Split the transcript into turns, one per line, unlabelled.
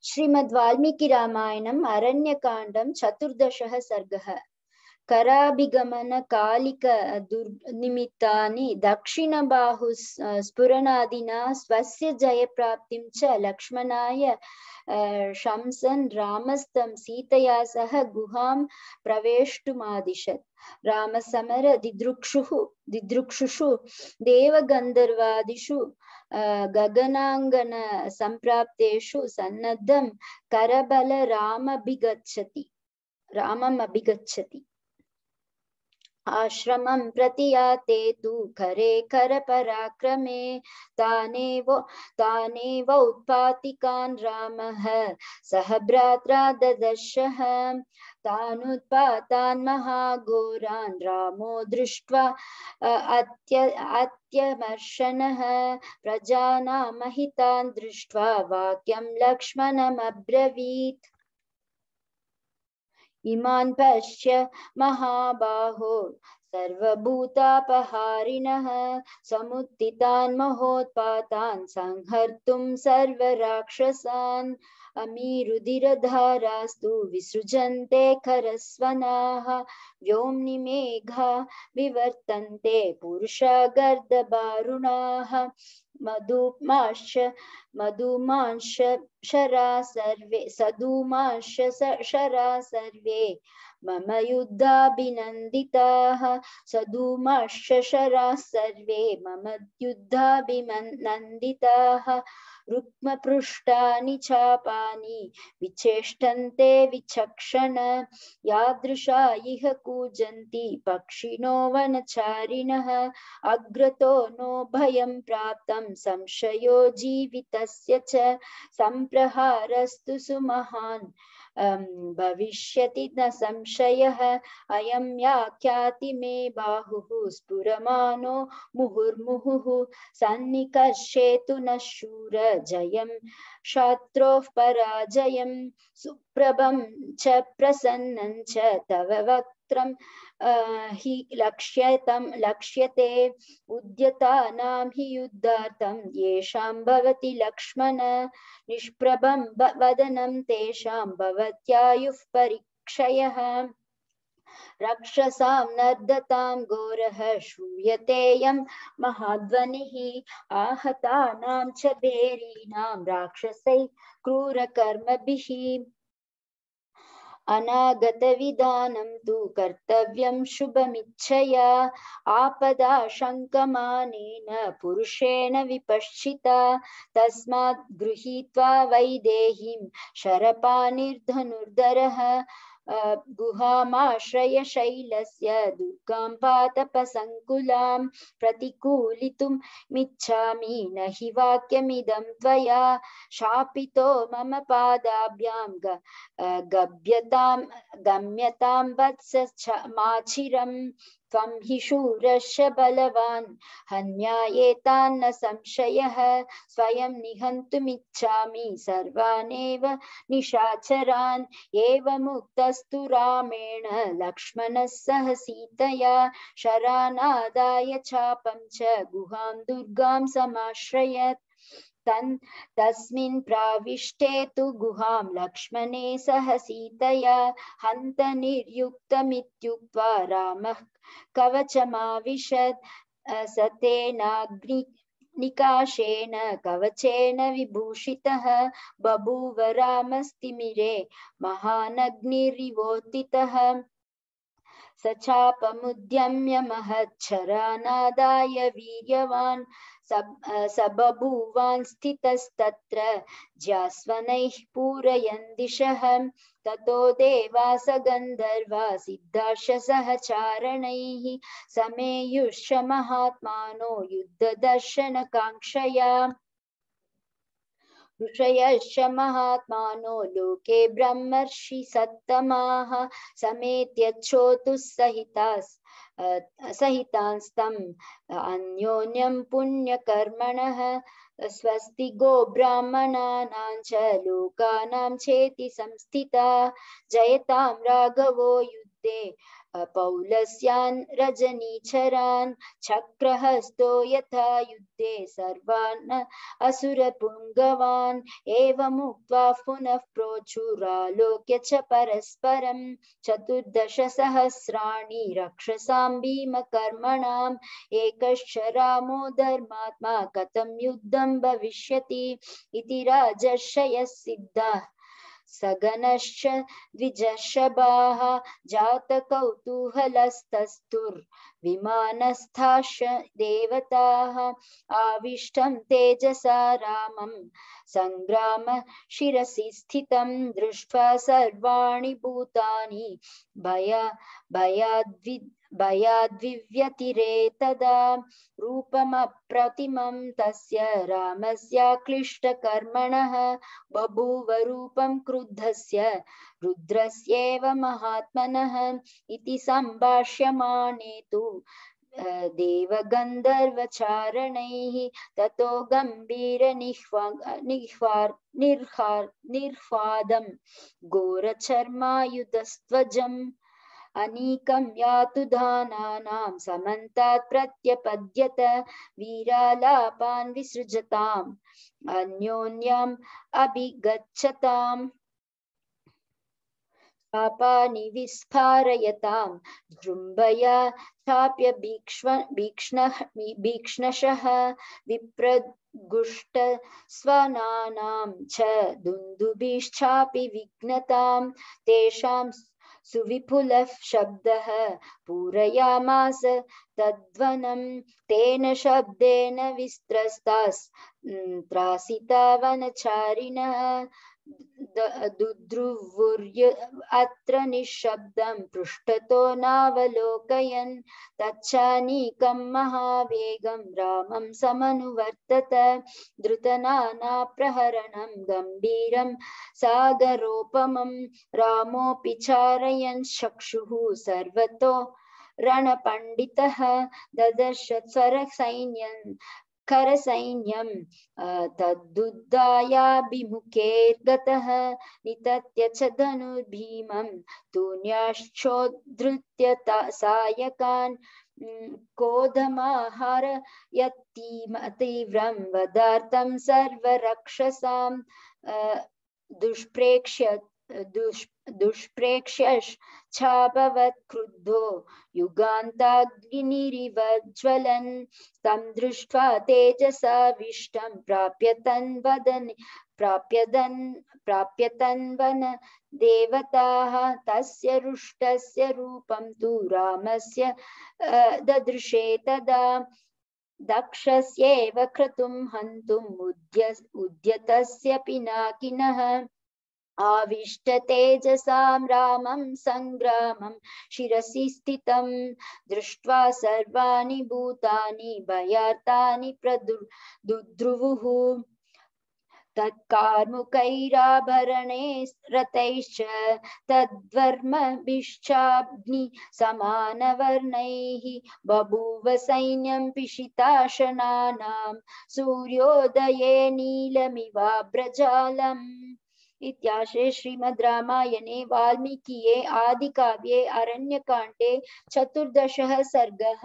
श्रीमद्वाल्मीकि रामायणम् अरण्यकाण्डं 14 सर्गः। कराभिगमन कालिक दुर्निमित्तानि दक्षिणबाहु स्फुरणादिना स्वस्य जयप्राप्तिं च लक्ष्मणाय शंसन् रामस्तं सीतया सह गुहां प्रवेष्टुमादिशत्। रामसमर दिदृक्षुषु देवगन्धर्वादिषु गगनांगन संप्राप्तेषु सन्नद्धं करबल रामम् अभिगच्छति। आश्रमं प्रति याते तु करे करपराक्रमे तानेव उत्पातिकान् रामः सह भ्रात्रा ददर्शः। तानुत्पातान् महाघोरान् रामो दृष्ट्वा अत्यमर्शनः। प्रजानामहितान् दृष्ट्वा वाक्यं लक्ष्मणमब्रवीत्। इमान् पश्य महाबाहो सर्वभूतापहारिणः समुत्थितान् महोत्पातान् संहर्तुं सर्वराक्षसान्। अमीरुधिरधारास्तु विसृजन्ते खरस्वनाः व्योम्नि मेघा विवर्तन्ते पुरुषा गर्दबारुणाः। सदूमांश शरा सर्वे मम युद्धाभिनन्दिताः। सदूमांश शरा सर्वे मम युद्धाभिनन्दिताः। रुक्मपृष्ठानि चापानि विचेष्टन्ते विचक्षण। यादृशा इह कूजन्ति पक्षिणो वनचारिणः। अग्रतो नो भयं प्राप्तं संशयो जीवितस्य च। संप्रहारस्तु सुमहान् भविष्यति न संशयः। अयं याख्याति मे बाहुः स्फुरमानो मुहुर्मुहुः। सन्निकर्षेतु न शूर जयं शत्रोः पराजयं। सुप्रभं च प्रसन्नं च तव वक्त्रं हि लक्ष्यते। उद्यतानां हि युद्धार्थं येषां भवति लक्ष्मण। निष्प्रभं वदनं तेषां भवत्यायुः परीक्षयः। रक्षसां नर्दतां घोरः श्रूयतेऽयं महाध्वनिः। आहतानां च भेरीणां राक्षसैः क्रूरकर्मभिः। अनागतविधानं तु कर्तव्यं शुभमिच्छया। आपदाशङ्कमानेन पुरुषेण विपश्चिता। तस्मात् गृहीत्वा वैदेहीं शरपाणिर्धनुर्धरः। गुहामाश्रय शैलस्य दुर्गां पातपसङ्कुलां। प्रतिकूलितुमिच्छामि न हि वाक्यमिदं त्वया। शापितो मम पादाभ्यां गम्यतां वत्स माचिरं। त्वं हि शूरश्च बलवान् हन्यायेतान्न संशयः। स्वयं निहन्तुमिच्छामि सर्वानेव निशाचरान्। एवमुक्तस्तु रामेण लक्ष्मणः सह सीतया। शरानादाय चापं च गुहां दुर्गां समाश्रयत्। तस्मिन् प्राविष्टे तु गुहां लक्ष्मणे सह सीतया। हन्त निर्युक्तमित्युक्त्वा रामः कवचमाविशत्। सतेनाग्निकाशेन कवचेन विभूषितः। बभूव रामस्तिमिरे महानग्निरिवोत्थितः। स चापमुद्यम्य महच्छरानादाय वीर्यवान्। स बभूवान् स्थितस्तत्र ज्यास्वनैः पूरयन् दिशः। ततो देवास गन्धर्वा सिद्धाश्च सहचारणैः समेयुश्च महात्मानो युद्धदर्शनकाङ्क्षया। ऋषयश्च महात्मानो लोके ब्रह्मर्षि सत्तमाः समेत्य सहितांस्तम् अन्योन्यं पुण्यकर्मणः। स्वस्ति गो ब्राह्मणानां च लोकानां चेति संस्थिता। जयतां राघवो युद्धे पौलस्यान् रजनीचरान् चक्रहस्तो यथा युद्धे सर्वान् असुरपुङ्गवान् एवमुक्त्वा पुनः प्रोचुरालोक्य च परस्परं 14,000 रक्षसां भीमकर्मणाम् एकश्च रामो धर्मात्मा कथं युद्धं भविष्यति इति राजर्षयः सिद्धाः सगनश्च द्विजशबाः जातकौतूहलस्तस्तुर्विमानस्थाश्च देवताः आविष्टं तेजसा रामं सङ्ग्राम शिरसि स्थितं दृष्ट्वा सर्वाणि भूतानि भयाद्विव्यतिरे तदा रूपमप्रतिमं तस्य रामस्याक्लिष्टकर्मणः बभूव रूपं क्रुद्धस्य रुद्रस्येव महात्मनः इति सम्भाष्यमाणे तु देवगन्धर्वचारणैः ततो निर्ह्वादं घोरचर्मायुधस्त्वजम् अनीकं यातुधानानां समन्तात् प्रत्यपद्यत वीरालापान् विसृजताम् अन्योन्यम् अभिगच्छताम् पापानि विस्फारयतां जृम्भया चाप्य भीक्ष्णशः विप्रगुष्टस्वनानां च दुन्दुभिश्चापि विघ्नतां तेषां सुविपुलः शब्दः पूरयामास तद्वनं तेन शब्देन विस्त्रस्तास्त्रासिता वनचारिणः दुद्रुवुर्य अत्र निःशब्दं पृष्ठतो नावलोकयन् तच्चानीकं महावेगं रामं समनुवर्तत द्रुतनानाप्रहरणं गम्भीरं सागरोपमं रामोऽपि चारयन् चक्षुः सर्वतो रणपण्डितः ददर्श स्वरसैन्यं करसैन्यं तद्युद्धायाभिमुखेर्गतः नितत्य च धनुर्भीमं तूण्याश्चोद्धृत्य सायकान् कोधमाहार यत्तीव्रं वदार्थं सर्वरक्षसां दुष्प्रेक्ष्यश्चाभवत् क्रुद्धो युगान्ताग्निरिव ज्वलन् तं दृष्ट्वा तेजसाविष्टं प्राप्यतन्वन देवताः तस्य रुष्टस्य रूपं तु रामस्य ददृशे तदा दक्षस्यैव क्रतुं हन्तुम् उद्यतस्य पिनाकिनः आविष्ट तेजसां रामं सङ्ग्रामं शिरसि स्थितं दृष्ट्वा सर्वाणि भूतानि भयार्तानि दुद्रुवुः तत्कार्मुकैराभरणे रतैश्च तद्वर्मभिश्चाग्निसमानवर्णैः बभूव सैन्यं पिशिताशनानां सूर्योदये नीलमिवाभ्रजालम् इत्याशे श्रीमद् रामायणे वाल्मीकिये आदिकाव्ये अरण्यकाण्डे 14 सर्गः।